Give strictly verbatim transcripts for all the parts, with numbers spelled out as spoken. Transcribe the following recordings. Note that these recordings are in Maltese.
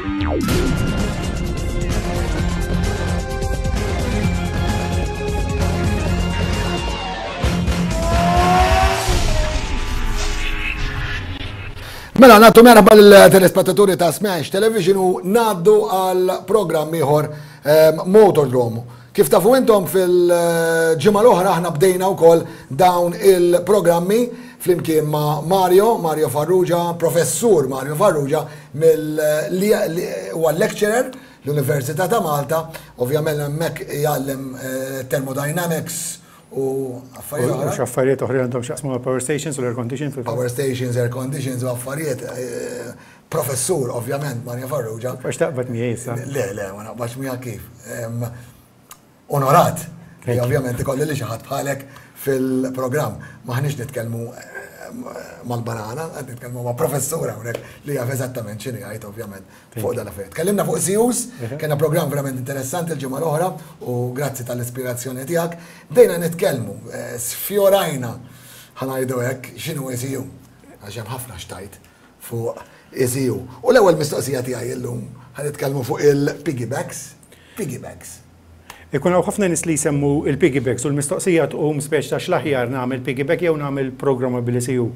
Mela, nagħtu merħba l-telespettaturi ta' Smash Television u ngħaddu għal programm ieħor ehm, Motordrome. Kif tafu intom, fil-ġimgħa l-oħra aħna bdejna wkoll dawn il-programmi flimkien ma' Mario, Mario Farrugia, professur Mario Farrugia, mill li huwa lecturer l-Università ta' Malta, ovvjament hemmhekk jgħallem eh, thermodynamics u affarijiet oħra. U x'affarijiet oħra għandhom x'jaqsmu ma' power stations u l-air condition fil Power stations, air conditions u affarijiet. eh, Professur, ovvjament, Mario Farrugia. Għax taqbad miegħi issa. Le, le, ma naqbax miegħek kif. Em, Onorat li Thank you. ovvjament ikolli li xi ħadd bħalek fil-programm. Maħniex nitkellmu em, mal-banana, qed nitkellmu ma' professur hawnhekk li jaf eżattament x'inhi jgħid, ovvjament, fuq dan l-affarijiet. Tkellimna fuq E C Us, kellna programm verament interessanti l-ġimgħa l-oħra u grazzi tal-ispirazzjoni tiegħek. Bdejna nitkellmu, eh, sfjorajna, ħa ngħidu hekk, x'inhu E C U. Għax hemm ħafna x'tgħid fuq E C U. U l-ewwel mistoqsija tiegħi illum, ħa nitkellmu fuq il-piggybacks. Piggybacks. Ikun hawn ħafna nies li jsemmu il-piggybacks u l-mistoqsija tqum speċ ta' x'l-aħjar, nagħmel piggyback jew nagħmel programmable E C U.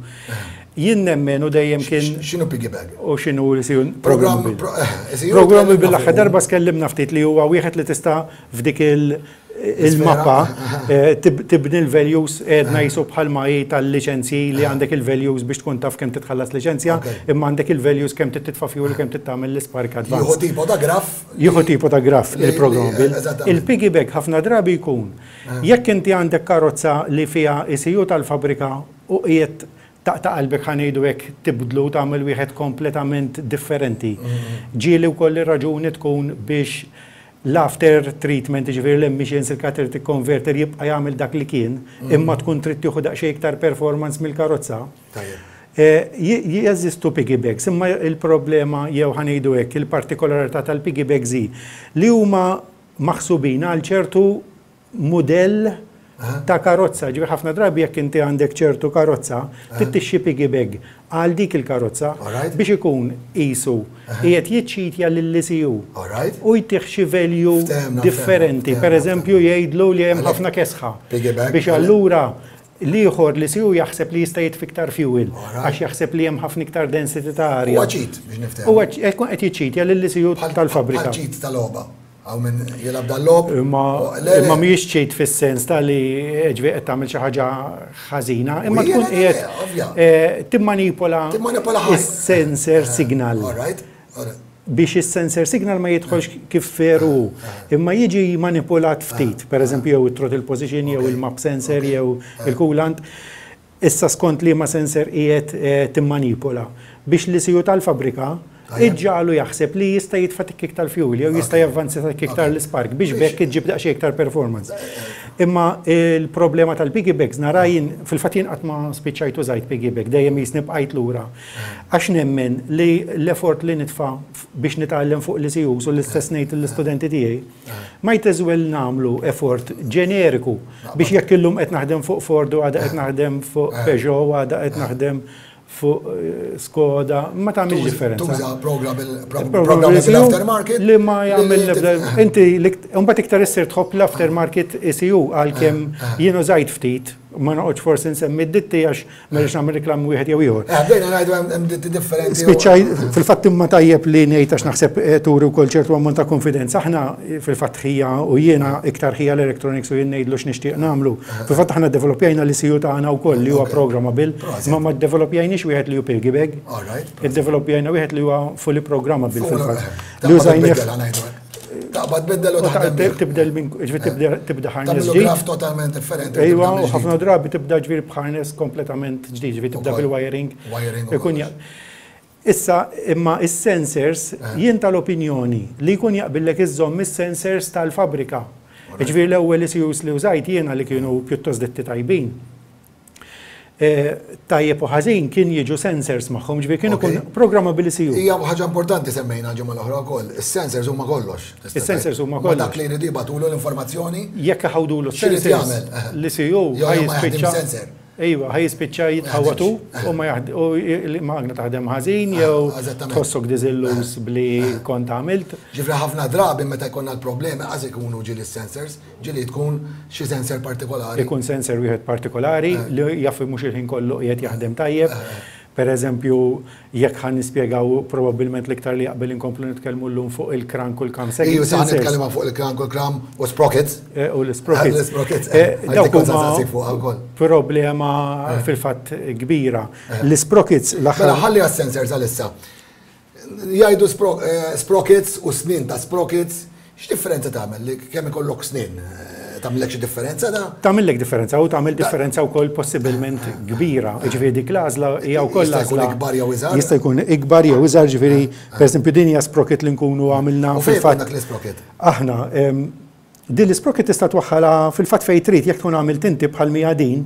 Jien nemmen u dejjem kien X'inhu piggybag? U x'inhu l-E C U Program programmable. pro- eh, E C U Programmable tkellimna l-aħħar fuq. darba skellimna ftit li huwa wieħed li tista' f'dik il- il-mappa eh, tib- tibni l-values, edna jisu bħalma hi tal-liċenzji li għandek il-values biex tkun taf kemm titħallas liċenzja, Ok. imma għandek il-values kemm titfa' fuel, kemm titagħmel l-spark Jieħu advance. tipo ta' graf. Jieħu tipo ta' graf li- il-programmable. li- eżattament. Il-piggyback ħafna drabi jkun jekk inti għandek karozza li fiha E C U tal-fabrika u qiegħed taqta' qalbek, ħa ngħidu hekk, tibdlu, tagħmel wieħed kompletament differenti. Ġieli wkoll ir-raġuni tkun biex l-after treatment, ġifieri l-emissions, il-catalytic converter jibqa' jagħmel dak li kien, imma tkun trid tieħu daqsxejn iktar performance mill-karozza. Tajjeb. Eh, j- Jeżistu piggybags, imma il-problema jew ħa ngħidu hekk, il-partikolarità tal-piggybags hi li huma maħsubin għal ċertu mudell ta' karozza. Ġifieri ħafna drabi jekk inti għandek ċertu karozza, trid tixtri piggybag għal dik il-karozza Alright. biex ikun qisu qiegħed jiċċitja lill-E C U Alright. u jtih xi value Ftehemna, differenti. ftehemna, Per eżempju, jgħidlu li hemm ħafna kesħa. Piggyback, Biex allura l-ieħor l-E C U jaħseb li jista' jitfi iktar fuel Alright. għax jaħseb li hemm ħafna iktar density ta' arja. Huwa cheat biex niftehmu. Huwa qed qed jiċċitja lill-E C U Bħal- tal-fabrika. Bħal cheat tal-logħba. Hawn min jilgħab dal-logħob. Imma Le, le. imma mhijiex cheat fis-sens ta' li ġifieri qed tagħmel xi ħaġa ħażina, imma U tkun le, le, le, qiegħed ovvja. eh, timmanipola Timmanipola ħaj. is-sensor signal All right. All right. biex is-sensor signal ma jidħolx kif veru, imma jiġi manipulat ftit, per eżempju jew it-throttle position, jew il-map sensor, jew il-coolant. Issa skont li ma sensor qiegħed eh, timmanipola biex l-E C U tal-fabrika iġġagħlu jaħseb li jista' jitfa' tikk iktar fuel jew jista' javvanza tikk iktar l-spark biex bekk iġġib daqsxejn iktar performance. Imma il-problema tal-piggybags nara jien, fil-fatt jien qatt ma spiċċajt użajt piggybag, dejjem jisni bqajt lura. Għax nemmen li l-effort li nitfa' biex nitgħallem fuq l-E C Us, u l-istess ngħid l-istudenti tiegħi, might as well nagħmlu effort ġeneriku biex jekk illum qed naħdem fuq Ford u għada qed naħdem fuq Peugeot u għada qed naħdem fuq eh, Skoda, ma tagħmilx differenza. Tuża programmable programmable aftermarket. Li ma jagħmel li- l-ebda. Inti mbagħad iktar issir tħobb l-aftermarket E C U, għalkemm jien użajt ftit, ma noqgħodx forsi nsemmi d-ditti għax ma rridx nagħmel reklam wieħed jew ieħor. Eh, bdejna ngħidu hemm hemm ditti differenti. u- Spiċċaj, fil-fatt, imma tajjeb li ngħid għax naħseb eh, turi wkoll ċertu ammont ta' konfidenza. Aħna eh, fil-fatt ħija u jiena iktar ħija l-electronics u jien ngħidlu x'nixtieq nagħmlu. Fil-fatt aħna developjajna l-E C U tagħna wkoll li huwa programmable, Proset. ma ma developjajniex wieħed li hu piggybag. All right. Iddevelopjajna wieħed li huwa fully programmable fil-fatt. Li Li użajnieh użajnieh. Taqbad biddel u u ta' taħdem bih. Tibdel minn, ġifieri tibda tibda harness Tagħmlu ġdid. graf totalment differenti. Ejwa, tibda u mill-ġdid. ħafna drabi tibda ġifieri b'harness kompletament ġdid, ġifieri tibda Ukoll. bil-wiring. Wiring u Ikun kollox. ja- Issa, imma is-sensors, jien tal-opinjoni li jkun jaqbillek iżżomm is-sensors tal-fabrika. Ġifieri l-ewwel E C Us li użajt jiena, li kienu pjuttost ditti tajbin, Eh, Tajjeb u ħażin kien jiġu sensors magħhom, ġifieri kienu Ok. kun programmable E C U. Hija ħaġa importanti semmejna ġimgħa l-oħra wkoll. Is-sensors huma kollox. Tista' Is-sensors tgħid. huma Ma kollox. dak li jridu jibagħtulu l-informazzjoni. Jekk ħawdulu X'irid sensors, jagħmel? l-E C U Jew ħaj ma jaħdim jispiċċa sensor. Ejwa, ħa jispiċċa jitħawatu u ma u l-magna taħdem ħażin jew tħossok diżilluż bli kont għamilt. Ġifieri ħafna drabi meta jkollna l-problemi qas ikunu ġieli sensors, ġieli tkun xi sensor partikolari. Ikun sensor wieħed partikolari li jaf mhux il-ħin kollu qiegħed jaħdem tajjeb. Per eżempju, jekk ħa nispjegaw probabbilment l-iktar li jaqbel inkomplu nitkellmu llum fuq il-crank u l-cam. Iju, sa nitkellmu fuq il-crank u l-cam u sprockets. Eh, u l-sprockets. L-sprockets. Eh, dawk huma problema eh. fil-fatt kbira. L-sprockets l-aħħar. Mela ħalli għas-sensors għalissa. Jgħidu sprockets u snin ta' sprockets, x'differenza tagħmel li kemm ikollok snin? Tagħmillek xi differenza da? Tagħmillek differenza u tagħmel differenza wkoll possibilment kbira. Ġifieri dik l-għażla hija wkoll Jista' jkun ikbar jew iżgħar? Jista' jkun ikbar jew iżgħar, ġifieri pereżempju din hija sprocket li nkunu għamilna fil-fatt. Dak l-sprocket? Aħna din l-sprocket tista' twaħħalha fil-fatt fejn trid, jekk tkun għamilt inti bħal mija din,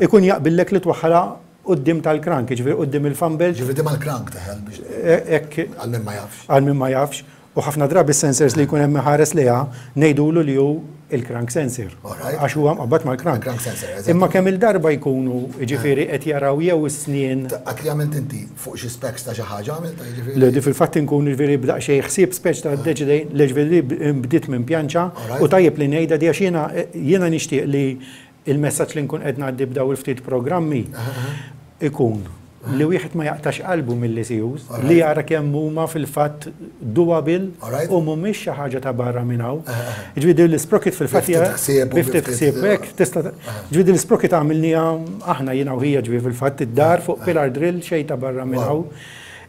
ikun jaqbillek li twaħħalha quddiem tal-crank, ġifieri quddiem il-fan belt. Ġifieri di mal-crank teħel biex. Għal min ma jafx. Għal min ma jafx. U ħafna drabi sensors li jkun hemm ħares liha ngħidulu li hu il-crank sensor. Għax huwa mqabbad mal-crank. Imma kemm il-darba jkunu ġifieri qed jaraw jew is-snien. Għat li għamilt inti fuq xi specs ta' xi ħaġa għamilt ġifieri. Le, di fil-fatt inkun ġifieri b'daqsxejn ħsieb specs ta' deċidej li ġifieri bdiet minn pjanċa u tajjeb li ngħidha di għax jiena jiena nixtieq li il-messaġġ li nkun qed ngħaddi b'daw il-ftit programmi ikun li wieħed ma jaqtax qalbu mill-E C Us, li jara kemm huma fil-fatt doable u mhumiex xi ħaġa ta' barra minn hawn. Ġifieri l-sprocket fil-fatt bi ftit ħsieb hekk tista' ġifieri l-sprocket għamilniha aħna jiena u ħija, ġifieri fil-fatt id-dar fuq pillar drill, xejn ta' barra minn hawn.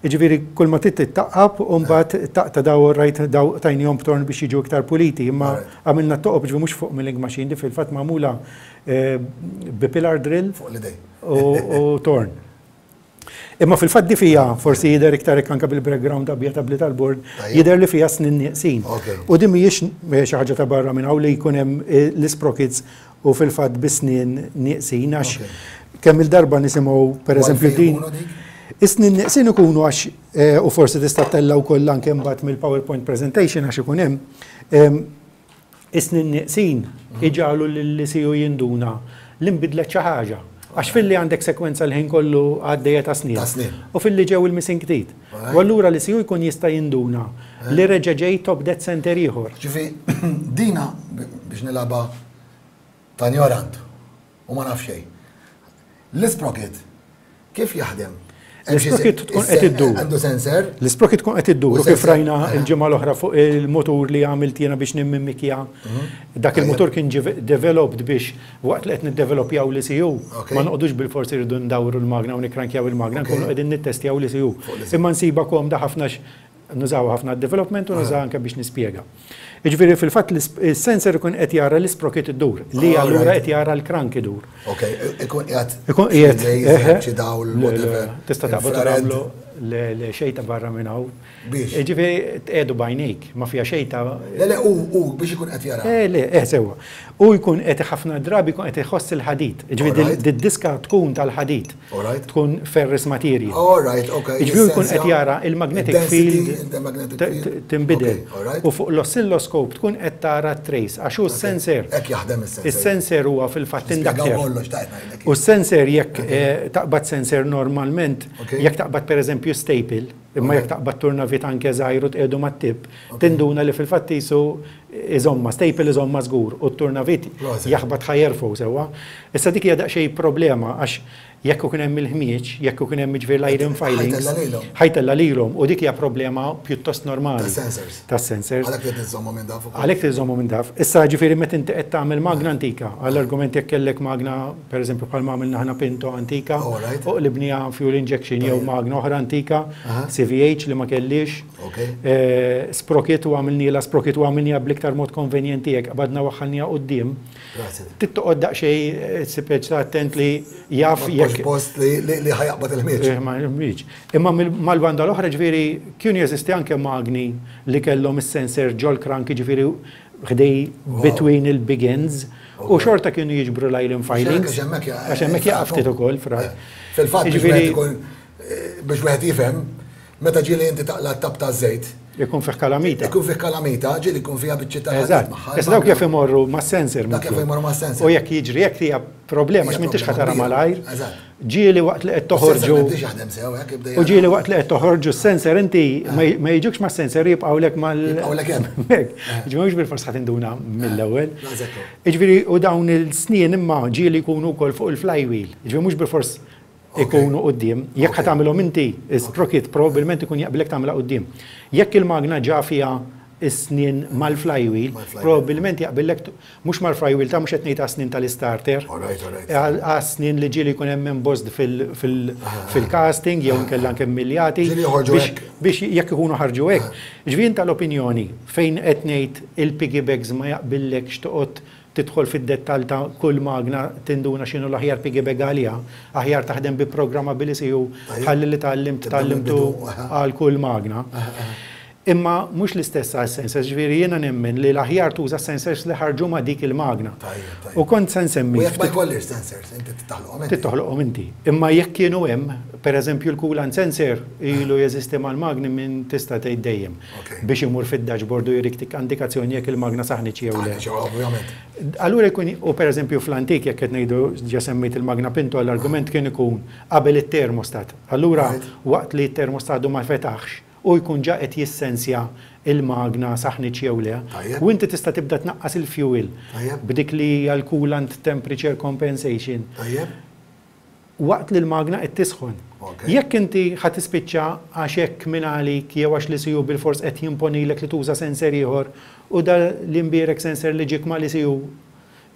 Ġifieri kull ma trid taqqab u mbagħad taqta' daw rajt daw tajnihom b'torn biex jiġu iktar puliti, imma għamilna toqob, ġifieri mhux fuq milling machine, di fil-fatt magħmula bi pillar drill u torn. Imma fil-fatt di fija, forsi jidher iktar anka bil-background abjad tabli tal-board, jidher li fija snin nieqsin. U di mhijiex xi ħaġa ta' barra minn hawn li jkun hemm l-sprockets u fil-fatt bi snin nieqsin, għax kemm il-darba nisimgħu pereżempju din. Is-snin nieqsin ikunu għax, u forsi tista' tella wkoll anke mbagħad mill-PowerPoint presentation għax ikun hemm, is-snin nieqsin iġagħlu lill-E C U jinduna li nbidlet xi ħaġa. Għax filli għandek sekwenza l-ħin kollu għaddejja ta' snin. U filli ġew il-missing teeth. U allura l-E C U jkun jista' jinduna li reġa' ġej top dead center ieħor. Ġifi, dina biex nilgħabha ta' ignorant u ma naf xejn. L-sprocket kif jaħdem? L-sprocket tkun qed iddur. Għandu sensor? L-sprocket tkun qed iddur u kif rajna il-ġimgħa l-oħra fuq il-motur li għamilt jiena biex nimmimikja. Dak il-motur kien developed biex waqt li qed niddevelopjaw l-E C U ma noqogħdux bil-forsi rridu ndawru l-magna u nikrankjaw il-magna, nkunu qegħdin nittestjaw l-E C U. Imma nsiba komda ħafna, nużaw ħafna development u nużaw anke biex nispjega. Jiġifieri fil-fatt il-sensor ikun qed jara l-sprocket iddur, li allura qed jara l-crank idur. Ok, ikun qiegħed. Ikun qiegħed. Xi dawl, whatever. Tista' taqbad tagħmlu le xejn ta' barra minn hawn. Biex? Ġifieri tqiegħdu bajnejk, ma fija xejn ta' Le, le, u biex ikun qed jara. Eh, le, eh, sewwa. U jkun qed ħafna drabi jkun qed iħoss il-ħadid. Ġifieri d-diska tkun tal-ħadid. Tkun ferrous material. All right, okay. Ġifieri jkun qed jara il-magnetic field tinbidel. U fuq l-oscilloscope tkun qed tara trace għax hu s-sensor. Hekk jaħdem is-sensor. Is-sensor huwa fil-fatt inductor. U s-sensor jekk eh, taqbad sensor normalment, jekk taqbad pereżempju staple, imma jekk taqbad turnavit anke żgħir u tqiegħdu mat-tip, tinduna li fil-fatt jisu iżomma, staple iżomma żgur, u t-turnavit jaħbat, ħa jerfgħu sewwa. Issa dik hija daqsxejn problema għax jekk ikun hemm il-ħmieġ, jekk ikun hemm ġifier l-iron filings, ħa jtella' lilhom u dik hija problema pjuttost normali. Tas-sensors. Tas-sensors. Għalhekk trid iżommu minn daf. Għalhekk trid iżommu minn daf. Issa ġifieri meta inti qed tagħmel magna antika, għall-argument jekk kellek magna pereżempju bħal ma għamilna aħna Pinto antika, u qlibniha fuel injection jew magna oħra antika, C V H li ma kellix. Eh, sprocket u għamilniha sprocket u għamilniha bl-iktar mod konvenjenti jekk qbadna waħħalniha quddiem. Trid toqgħod daqsxejn speċi attent li jaf jekk post li ħa jaqbad il-ħmieġ. Eh, ma il-ħmieġ. Imma mal-banda l-oħra ġifieri kienu jeżisti anke magni li kellhom is-sensor ġol crank, ġifieri ħdej between il-big ends u xorta kienu jiġbru l-iron filings. Għax hemmhekk jaqaf ftit ukoll fra. Fil-fatt ġifieri biex wieħed jifhem, meta ġieli inti taqla' tap ta' żejt, Ikun fih kalamita. Ikun fih kalamita, ġieli jkun fiha biċċi ta' Eżatt. Issa dawk jaf imorru ma' sensor. Dak jaf imorru ma' sensor. U jekk jiġri jekk hija problema Hija x'mintix problema ħa tara kbira. malajr. Eżatt. Ġieli waqt li qed toħorġu. Sensor jaħdem sew, hekk jibda U ġieli waqt li qed toħorġu s-sensor inti ma ma jiġukx ma' sensor, jibqgħulek mal. Jibqgħulek hemm. Hekk. Ġifieri mhux bil-fors ħa tinduna mill-ewwel. Eżattu. Ġifieri u dawn il-snien imma ġieli jkunu wkoll fuq il-flywheel. Ġifieri mhux bil-fors ikunu quddiem. Jekk ħa tagħmilhom inti, sprocket probabbilment ikun jaqbilek tagħmilha quddiem. Jekk il-magna ġa fiha is-snien mal-flywheel, Mal-flywheel. probabbilment jaqbillek t- mhux mal-flywheel ta' mhux qed ngħid snien tal-starter. All right, all right. Għal snien li ġieli jkun hemm embossed fil- fil- fil-casting jew inkella anke miljati Ġieli joħorġu biex hekk. biex jekk ikunu ħarġu hekk. Ġifieri tal-opinjoni fejn qed ngħid il-piggybags ma jaqbillekx toqgħod tidħol fid-dettall ta' kull magna tinduna x'inhu l-aħjar piggybag għaliha, aħjar taħdem bi programmable E C U Tajjeb. ħalli li tgħallimt Tibda tgħallimtu mill-bidu, aha. għal kull magna. Imma mhux l-istess għal sensors, ġifieri jiena nemmen li l-aħjar tuża sensors li ħarġu ma' dik il-magna. Tajjeb, tajjeb. U kont se nsemmi U jekk ma jkollix sensors, inti toħloqhom inti. Toħloqhom inti. Imma jekk kienu hemm, per eżempju l-coolant sensor ilu jeżisti mal-magni minn tista' tgħid dejjem. Ok. Biex imur fid-dashboard u jurik tik indikazzjoni jekk il-magna saħnitx jew le. Ċew, ovvjament. Allura jkun, u per eżempju fl-antik, jekk qed ngħidu ġa semmejt il-magna Pinto, l-argument kien ikun qabel it-termostat. Allura Right. waqt li t-termostat ma fetaħx u jkun ġa qed jissensja il-magna saħnitx jew le. Tajjeb. U inti tista' tibda tnaqqas il-fuel Tajjeb. b'dik li hija l-coolant temperature compensation Tajjeb. waqt li l-magna qed tisħon. Ok. Jekk inti ħa tispiċċa għax hekk minn għalik jew għax l-E C U bil-fors qed jimponilek li tuża sensor ieħor u da l-imbierek sensor li ġik ma l-E C U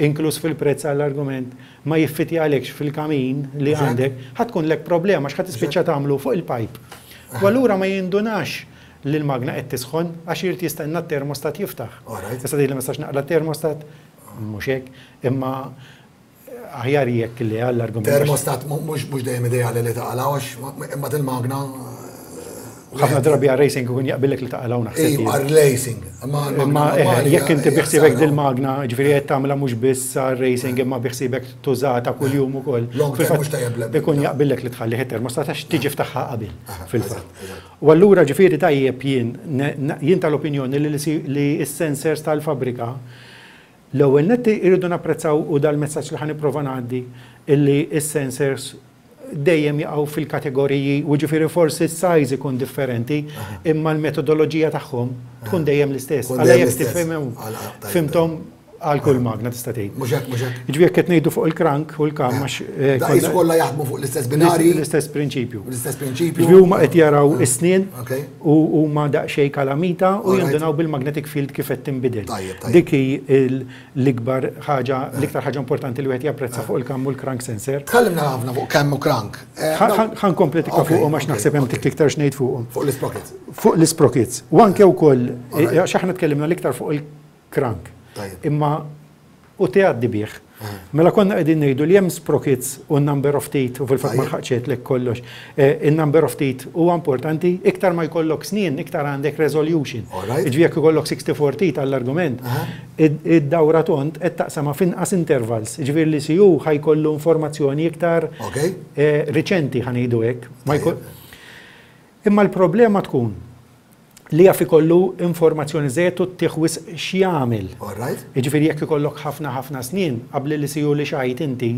inkluż fil-prezz għall-argument ma jiffiti għalekx fil-kamin li Mhux hekk? għandek, ħa tkun lek problema għax ħa tispiċċa tagħmlu fuq il-pipe. U allura ma jindunax li l-magna qed tisħon għax irid jistenna t-termostat jiftaħ. All right. Tista' tgħid li ma nistax naqla termostat, mhux hekk, imma aħjar jekk li għall-argument. Termostat mhux mhux dejjem ideali li taqalgħu għax imma il-magna. Ħafna drabi għal racing ikun jaqbillek li taqalgħu, naħseb Ej, jien. għal racing. Imma Imma eh, jekk inti biħsibek dil-magna, ġifieri qed tagħmilha mhux biss għal racing imma biħsibek tużata kuljum ukoll. Long term Fil-fatt, mhux tajjeb le- ikun jaqbillek li tħalli termostat għax tiġi ftaħħa qabel fil-fatt. Eżatt, eżatt. U allura ġifieri tajjeb jien ne- na- jien tal-opinjoni li li s-sensors tal-fabrika l-ewwel netti irridu napprezzaw, u dal-messaġġ li ħa nipprova ngħaddi, illi s-sensors dejjem jaqgħu fil-kategoriji u ġifieri forsi s-size ikun differenti imma l-metodoloġija tagħhom tkun dejjem l-istess. Tkun Għala dejjem jekk l-istess. tifhimhom Għala, tajjeb, fhimthom għal kull magna tista' tgħid. Mhux hekk, mhux hekk. Ġifieri jekk qed ngħidu fuq il-crank u l-cam għax eh, Da konna- jis kollha jaħdmu fuq l-istess binari, l-istess prinċipju. l-istess prinċipju. Ġifieri huma qed jaraw is-snien Ok. u huma daqsxejn kalamita u Alright. jindunaw bil-magnetic field kif qed tinbidel. Tajjeb, tajjeb. Dik hi l- l-ikbar ħaġa, l-iktar ħaġa importanti li wieħed japprezza fuq il-cam u l-crank sensor. Tkellimna ħafna fuq cam u crank. Eh, Ħa nkompli tikka Ok, fuqhom għax ok, naħseb hemm ok. tik iktar x'ngħid fuqhom. Fuq l-sprockets. Fuq l-sprockets. U anke wkoll, Alright. eh, għax aħna tkellimna l-iktar fuq il-crank. Tajjeb. Imma u tgħaddi bih. Mela konna qegħdin ngħidu li hemm sprockets u number of teeth u fil-fatt ma Tajjeb. lħaqċet kollox. Eh, Il-number of teeth huwa importanti, iktar ma jkollok snien, iktar għandek resolution. Alright. Ġifieri jekk ikollok sixty-four teeth għall-argument, Aha. id- id-dawra tond qed taqsama f'inqas intervals. Ġifieri l-E C U ħa jkollu informazzjoni iktar Ok. eh, riċenti, ħa ngħidu hekk. Ma jkun- Imma l-problema tkun li jaf ikollu informazzjoni żejt u tiħwis x'jagħmel. All right. Jiġifieri jekk ikollok ħafna ħafna snin qabli l-E C U li xtrajt inti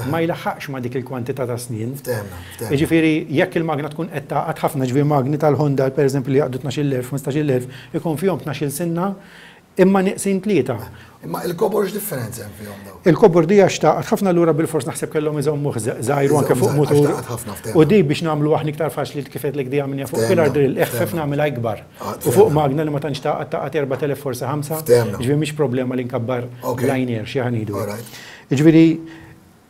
ma jlaħħaqx ma dik il-kwantità ta' snin. Ftehemna, ftehemna. Jiġifieri jekk il-magna tkun qed taqgħad ħafna, ġifieri magni tal-Honda pereżempju li jaqdu tnax-il elf, ħmistax-il elf, ikun fihom tnax-il sinna imma neqsin tlieta. Imma il-kobor x'differenza hemm fihom daw? Il-kobor di għax taqgħad ħafna, lura bil-fors naħseb kellhom iżommuh żgħir anke fuq Iżommu mutur. żgħir, għax taqgħad ħafna, ftehemna. U di biex nagħmlu aħna iktar faċli kif qedlek di għamilna fuq Ftehemna, pillar drill, eħfef ftehemna. nagħmilha ikbar. Ah, U fuq ftehemna. magna li ma tantx taqgħad, taqgħad erbat elef forsi ħamsa, Ftehemna. ġifieri mhix problema li nkabbar Ok. liner xi ħa ngħidu. All right. Ġifieri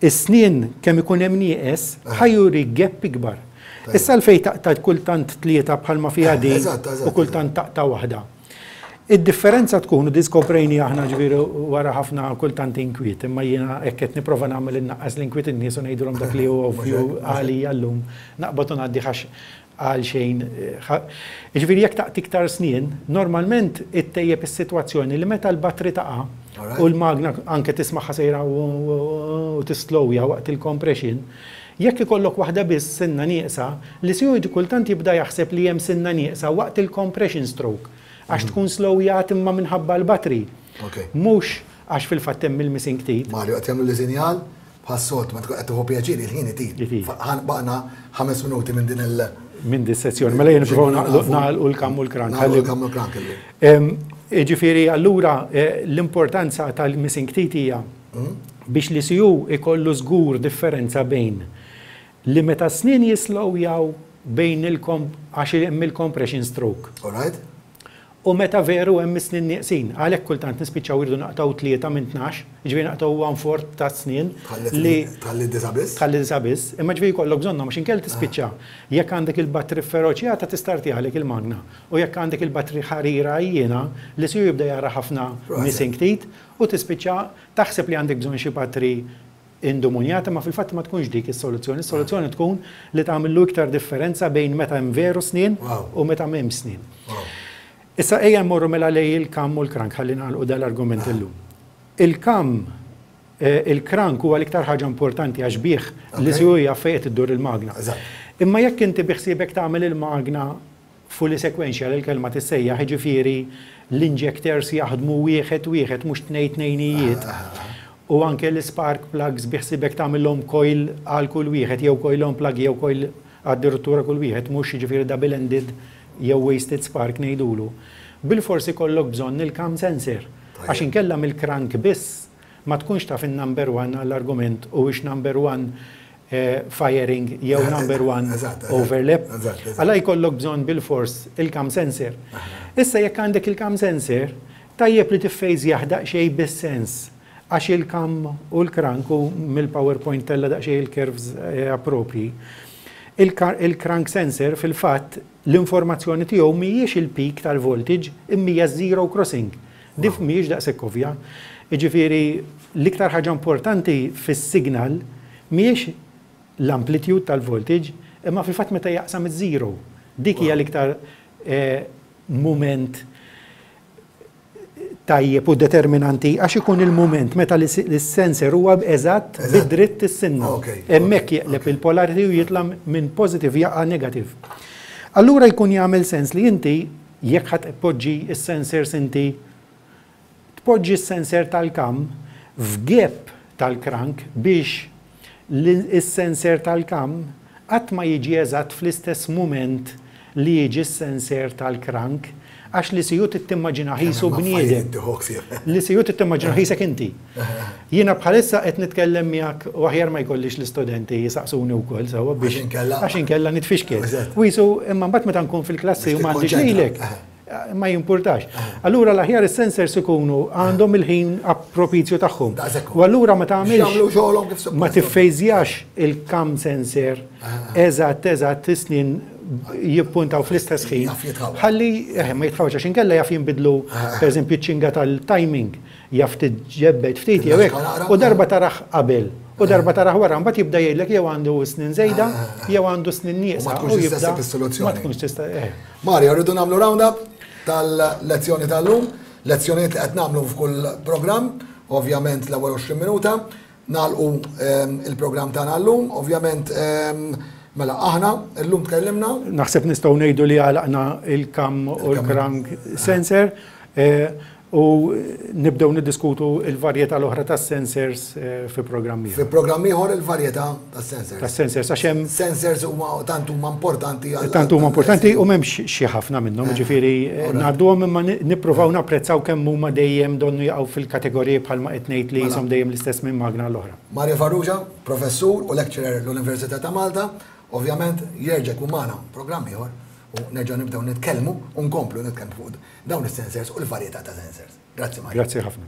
is-snien kemm ikun hemm nieqes ħa juri gap ikbar. Issa l-fej taqta' kultant tlieta bħalma fiha di Eżatt, eżatt, u kultant taqta' waħda. Id-differenza tkun, u diskoprejni aħna ġifieri wara ħafna kultant inkwiet, imma jiena hekk qed nipprova nagħmel innaqqas l-inkwiet in-nies u ngħidulhom dak li hu ovvju għalija llum. Naqbad u ngħaddi ħax għal xejn. Ġifieri jekk taqta' iktar snien, normalment ittejjeb is-sitwazzjoni li meta l-battery taqa' Alright. u l-magna anke tismaħħa sejra u u tislowja waqt il-compression, Jekk ikollok waħda biss sinna nieqsa, l-E C U kultant jibda jaħseb li hemm sinna nieqsa waqt il-compression stroke, għax tkun slowjat imma minħabba l-battery. Mhux għax fil-fatt hemm il-missing teeth. Mario, qed jagħmlu li sinjal bħas-sot ma tkun qed tieħu pjaċir, il-ħin itir. Baqna ħames minuti minn din il- Minn din sessjoni, mela jien nipprovaw nagħlqu l-cam u l-crank. Nagħlqu l-cam u l-crank illum. Ġifieri allura eh, l-importanza tal-missing teeth hija biex l-E C U ikollu żgur differenza bejn li meta snin jislowjaw bejn il-kom għax hemm il-compression stroke. All right? U meta veru hemm snin nieqsin, għalhekk kultant nispiċċaw irdu naqtaw tlieta minn tnax, ġifieri naqtaw one fourth ta' snin li tħalli disa biss. Tħalli disa biss, imma ġifieri jkollok bżonnhom għax inkella tispiċċa. Jekk għandek il-battery feroċjata tistartijalek il-magna u jekk għandek il-battery ħarira jiena, l-E C U jibda jara ħafna missing teeth u tispiċċa taħseb li għandek bżonn xi battery indumunjata, ma fil-fatt ma tkunx dik is-soluzzjoni. Is-soluzzjoni tkun li tagħmillu iktar differenza bejn meta hemm veru snin u meta m'hemm snin. Issa ejja mmorru mela lej il-cam u l-crank, ħalli nagħlqu dal-argument illum. Il-cam, eh, il-crank huwa l-iktar ħaġa importanti għax bih l-E C U jaf fejn iddur il-magna. Imma jekk inti biħsiebek tagħmel il-magna fully sequential, il-kelma tissejjaħ, ġifieri l-injectors jaħdmu wieħed wieħed, mhux tnejn tnejnijiet. U anke l-spark plugs biħsiebek tagħmilhom coil għal kull wieħed, jew coil on plug jew coil għad-direttura kull wieħed, mhux ġifieri double-ended jew wasted spark ngħidulu. Bil-forsi kollok bżonn il-cam sensor. Għax inkella mill-crank biss ma tkunx taf in-number one għall-argument u ix number one eh, firing jew number one overlap. Għala jkollok bżonn bil-fors il-cam sensor. Issa jekk għandek il-cam sensor, tajjeb li tiffejżjah daqsxejn bis-sens, għax il-cam u l-crank, u mill-PowerPoint tella daqsxejn il-curves eh, appropri. Il-crank sensor fil-fatt l-informazzjoni tiegħu mhijiex il-peak tal-voltage imma hija zero crossing. Dif mhijiex daqshekk ovvja. Jiġifieri l-iktar ħaġa importanti fis-signal mhijiex l-amplitude tal-voltage imma fil-fatt meta jaqsam iż-zero. Dik hija l-iktar eh, moment tajjeb u determinanti, għax ikun il-moment meta l-sensor huwa eżatt bid-dritt is-sinna. Hemmhekk jeqleb il-polarity u jitla' minn positive jaqa' negative. Allura jkun jagħmel sens li inti jekk ħadd tpoġġi s-sensors, inti tpoġġi s-sensor tal-cam f'gap tal-crank biex l-sensor tal-cam qatt ma jiġi eżatt fl-istess moment li jiġi s-sensor tal-crank, għax l-E C U timmaġina qisu bniedem. L-E C U timmaġina qisek inti. Jiena bħalissa qed nitkellem miegħek u aħjar ma jkollix l-istudenti jisaqsuni wkoll sewwa biex għax inkella nitfixkel. U jisu imma mbagħad meta nkun fil-klassi u m'għandix lilek ma jimpurtax. Allura l-aħjar is-sensors ikunu għandhom il-ħin propizju tagħhom. U allura ma tagħmilx, ma tiffejżjax il-cam sensor eżatt eżatt snin jippuntaw fl-istess ħin. Ħalli eh, ma jitħawx, għax inkella jaf jinbidlu, pereżempju ċinga tal-timing, jaf tiġġebbed ftit jew hekk. U darba taraħ qabel u darba taraħ wara, mbagħad jibda jgħidlek jew għandu snin żejda jew għandu snin nieqsa. Ma tkunx tista' is-soluzzjoni. Ma tkunx tista'. Eh. Mario, rridu nagħmlu round-up tal-lezzjoni tal-lum, lezzjonijiet li qed nagħmlu f'kull programm, ovvjament l-ewwel għoxrin minuta, nagħlqu ehm, il-programm tagħna llum, ovvjament ehm, mela aħna llum tkellimna. Naħseb nistgħu ngħidu li għalaqna il-cam u l-crank sensor eh, u nibdew niddiskutu il-varjetà l-oħra tas-sensors eh, fi programm ieħor. Fi programm ieħor il-varjetà tas-sensors. Tas-sensors għax hemm Sensors huma tant huma importanti għal Tant huma importanti u m'hemmx xi ħafna minnhom, ġifieri eh, ngħadduhom imma nippruvaw napprezzaw kemm huma dejjem donnu jaqgħu fil-kategoriji bħalma qed ngħid li jisom dejjem l-istess minn magna l-oħra. Mario Farrugia, professur u lecturer l-Università ta' Malta, ovvjament jerġa' jkun magħna programm ieħor u nerġgħu nibdew nitkellmu u nkomplu nitkellmu fuq dawn is-sensors u l-varjetà ta' sensors. Grazzi, Mario. Grazzi ħafna.